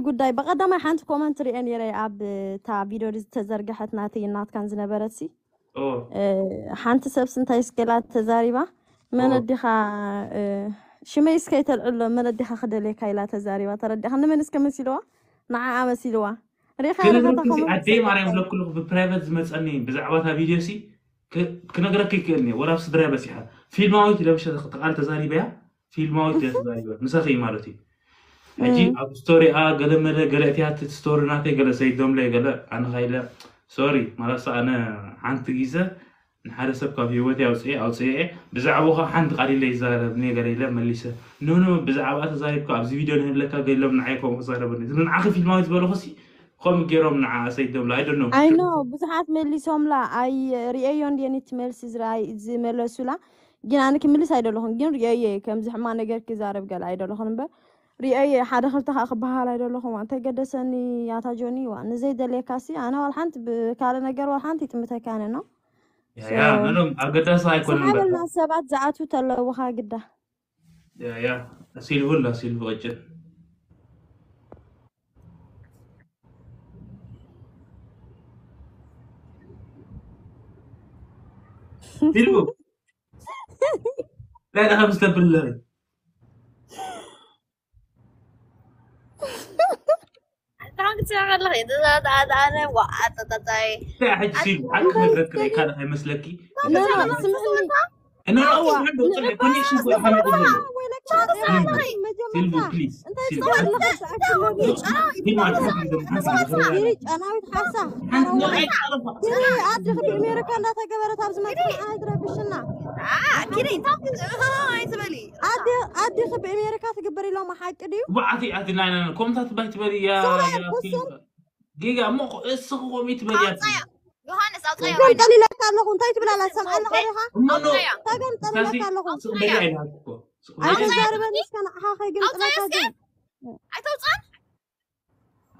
ጉዳይ ብቐዳማይ ሓንቲ ኮመንት ሪኤ ነይረ ኣብ እታ ቪድዮ ዝተዘርግሐት ናተይ ናትካን ዝነበረት ሲ ሓንቲ ሰብስ እንታይ ስገላ ተዛሪባ መን ኣዲኻ ሽመይ እስከይ ተልዕሎ መን ኣዲኻ ክደልየካ ኢላ ተዛሪባ ተረዲኻ ንመን እስከ መሲልዋ ንዓኣ መሲልዋ ሪኻ ክነግረኪ ኣደይ ማርያም ብለኩልኩ ብፕራይቨት ዝመፀኒ ብዛዕባ እታ ቪድዮ ሲ ክነግረኪ ይክእል እየ ወላ ኣብ ስድራይ በፂሓ ፊልማዊት ኢለ ምሸ ተቃል ተዛሪበያ ፊልማዊት ኢለ ተዛሪበ ምሳኺ ማለት እዩ ሕጂ ኣብ ስቶሪኣ ገለ መለ ገለ እቲያ እቲ ስቶሪ ናተይ ገለ ሰይዶምለይ ገለ ኣነ ኸይለ ሶሪ ማለትሳ ኣነ ሓንቲ ግዘ ንሓደ ሰብ ካብ ህይወት ኣውፅኤ ኣውፅኤ ብዛዕባኻ ሓንቲ ቃል ኢለ ይዛረብ እኔ ገለ ኢለ መሊሰ ኖኖ ብዛዕባ ተዛሪብካ ኣብዚ ቪድዮ ንህለካ ገሎም ንዓይ ከምኡ ክዛረበኒ እዚ ንዓኺ ፊልማዊ ዝበለኹሲ ከምኡ ገይሮም ንዓ ሰይዶምለ ኣይደኖ ኣይኖ ብዙሓት መሊሶምላ ኣይ ርእየዮ እንድየን እቲ መልሲ ዝረኣይ ዝመለሱላ ግን ኣነ ክምልስ ኣይደለኹን ግን ርእየየ ከምዚ ሕማ ነገር ክዛረብ ገለ ኣይደለኹን እምበር ርእየየ ሓደ ክልተ ከዓ ክበሃል ኣይደለኹም እንታይ ገደሰኒ ያታ ጆኒ ዋ ንዘይ ደልየካሲ ኣነ ዋል ሓንቲ ብካለ ነገር ዋል ሓንቲ ይጥምተካ ኣነ ነው ያ ምንም ኣገዳሲ ኣይኮነን በቃ ሰሓበልና ሰባት ዝኣትዉ ተለውኻ ግዳ ያ ያ ሲልቭላ ሲልቭ ቀጭን ሲልቭ እንታይ ደኸም ዝተብል ኣለኺ ታንክ ትሰራለህ ትዛዛዛነ ዋዓጠጠጣይ እንታይ ሕጂ ሲልቭ ሓቂ ክነግረኪ ርኢካ ዶ ከይመስለኪ ስምዕኒ እና ኣዎ ሓንዶ ጽልእ ኮኔክሽን ኮ ይፈለጥ ነው ሲልቭ ፕሊዝ ሲልቭ ፊልም ኣትፈቅድም ሓንሳ ጫናዊት ሓሳ ሓንሳ ናይ ጨረፋ ኣድኺ ብእሜሪካ እንዳተገበረት ኣብ ዝመፅእ ንዓይ ትረብሽና ኪደይ ታንክ ኣይትበሊ ኣድኺ ብእሜሪካ ትግበር ኢሎም ሓቂ ድዩ ብዓቲ ኣቲ ናይ ናይ ኮምታት ባይ ትበሊ ያ ያ ጌጋ እሞ እስኺ ኮሚ ትበሊ ኣቲ ዮሃንስ ኣውፃያ ገምጠል ኢለካ ኣለኹ እንታይ ትብል ኣላ ሰምዓኒ ኸሪኻ እሞ ኖ እንታይ ገምጠል ኢለካ ኣለኹ ስቕ በሊ ኣይልሃት እኮ ስቕ በሊ ኣይተዛርበኒ እስከ ንዓኻ ከይግምጥለካ ግን ኣይተውፅኣን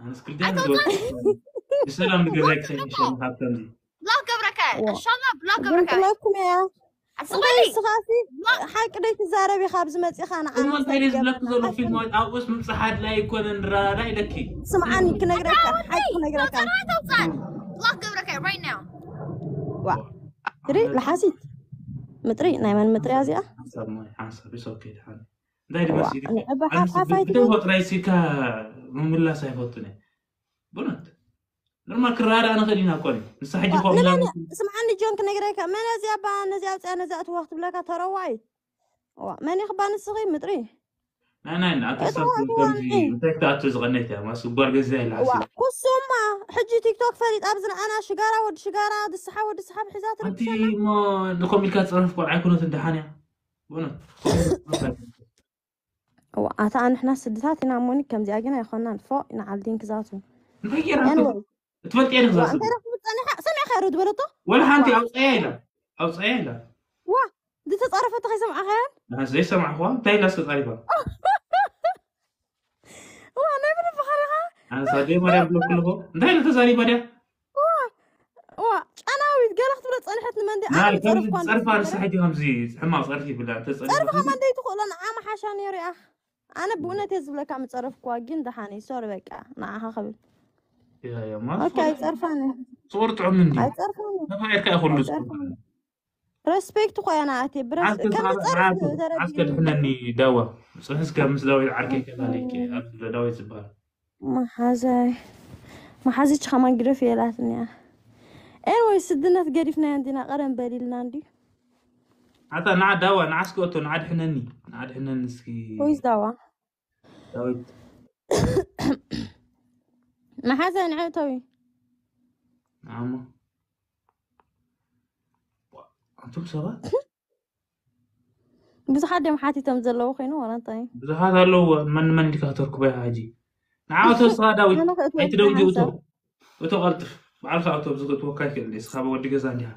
ኣነስ ክልቲኣን ዝወ ብሰላም ንገዛይ ክኸይድ ይሻል ካብተን ብላክ ገብረከ እንሻላ ብላክ ገብረከ ግምጥለኩም እያ ኣስበሊ ስኻሲ ሓቂ ደይ ትዛረብ ኢኻ ኣብዚ መፂኻ ንዓና እሞ እንታይ ኢለ ዝብለኪ ዘሎ ፊልም ኣብኡስ ምብፃሕ ኣድላይ ኣይኮነን ንረዳዳ ኢለኪ ስምዓኒ ክነግረካ ሓቂ ክነግረካ ተውፃን ብላክ ገብረከ right now ዋ ትሪ ለሓሲት ምጥሪ ናይ መን ምጥሪ እዚኣ ሓንሳብ ማይ ሓንሳብ is okay ድሓን እንታይ ድመስ ንዕባ ሓፋፋይ ብተፈጥራይ ሲካ ምምላስ ኣይፈቱን እየ ብእውነት ኖርማል ክረዳዳ ንኽእል ኢና እኮ ንሳ ሕጂ መን ከምላ ስምዓኒ ጆን ክነግረካ መን እዚኣ ባ ነዚኣ ውፅያ ነዚኣ እትዋ ክትብለካ ተረዋይ ዋ መን ኢኽባ ንስኺ ምጥሪ ናይ ናይ ንኣክሰብ ከምዚ እንታይ ክትኣቱ ዝቐነይት እያ ማስ ጓል ገዛ ኢላ ዋ ኩሱማ ሕጂ ቲክቶክ ፈሊጥ ኣብዚ ንዓና ሽጋራ ወዲ ሽጋራ ድስሓ ወዲ ስሓብ ሒዛ ኣንቲ ትርክሰና እሞ ንኮም ኢልካ ዝፀረፍ ቆልዓ ኣይኮነት እንደሓን እያ ብእውነት ዋ ኣታ ንሕና ስድታት ኢና እሞኒ ከምዚኣ ግን ኣይኮናን ፎ ንዓል ዲንክ ዛቱ እንታይ ገይራ Anyway ትፈልጥ እየ ንዛ ዋ እንታይ ረኽቡ ፀኒሓ ሰሚዕካ ዶ ዝበለቶ ወላ ሓንቲ ኣውፀያ ኢላ ኣውፀያ ኢላ ዋ ዝተፃረፈቶ ከይሰምዓኻያን ንሓስ ዘይሰማዕኹዋ እንታይ ኢላ ዝተፃሪፋ ዋ ናይ ብልቢ ኸሪኻ ኣነስ ኣደይ ማርያም ብለኩ ኣለኹ እንታይ ኢለ ተዛሪባ ድያ ዋ ጫናዊት ገለ ክትብሎ ፀንሐት ንመንዲ ናይ ከምዚ ፀርፋ ንስሓ ሕጂ ከምዚ ሕማቕ ፀርፊ ይብላ ፀርፊ ተፀሪፋ ከማን ደይትኽእሎ ንዓ መሓሻ ነይሩ ኢኻ ኣነ ብእውነት እየ ዝብለካ ምፀረፍኩዋ ግን ደሓነ ሶሪ በቃ ንዓኻ ክብል ያማ ኦኬ ኣይፀርፋን ፅቁር ጥዑም እንዲ ኣይፀርፋን ተፋቂርካ ይኹሉ ኣይፀርፋን ረስፔክት ኾያ ንኣቴ ብረስ ከም ዝፀርፍ ተረዲእኒ ኣስከድሕነኒ ዳዋ ፅንሕስ ካብ ምስ ዳዊት ዓርከይ ከላልይኪ ኣብዚ ዳዊት ዝበሃል መሓዛይ መሓዚች ከማን ግደፍ የላትኒ እያ ኤንወይ ስድነት ገዲፍናዮ እንዲና ቀደም በሊልና እንዲ ኣታ ንዓ ዳዋ ንዓ እስኪ ኦቶ ንዓ ድሕነኒ ንዓ ድሕነኒ እስኪ ወይስ ዳዋ ዳዊት መሓዛይ ንዐ እተዊ ንዓሞ ኣንቱም ሰባት ብዙሓት ድዮም ሓቲቶም ዘለዉ ኮይኑ ዋላ እንታይ ብዙሓት ኣለዎ መን መን ኢልካ ከተርክቦ ኢኻ ሕጂ ንዓ እቶ ንስኻ ዳዊት ኣነ ከእትወልካ ኣይትደንጊ እቶ ሓንሳብ እቶ ቀልጥፍ ባዕልካ እቶ ብዝእትወካ ይክእል ንስኻ ወዲ ገዛ እንዲኻ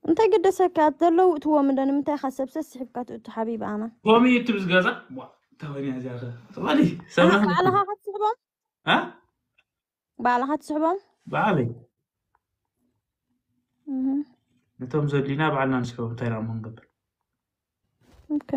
እንታይ ግደሰካ ዘለዉ እትዎም እንዶ ንምንታይ ኢኻ ሰብ ሰስሒብካ ትእቱ ሓቢቢ ኣና ኮሚ እትብ ዝገዛ ዋ ተወንያ እዚኣ ኸ ትቐሊ ኣና ሰብና ባዕልኻ ክትስሕቦም እ ባዕልኻ ትስሕቦም ባዕለይ እህ፣ ነቶም ዘድልዩና ባዕልና ንስሕቦም እንታይ ኢና እሞ ንገብር ኦኬ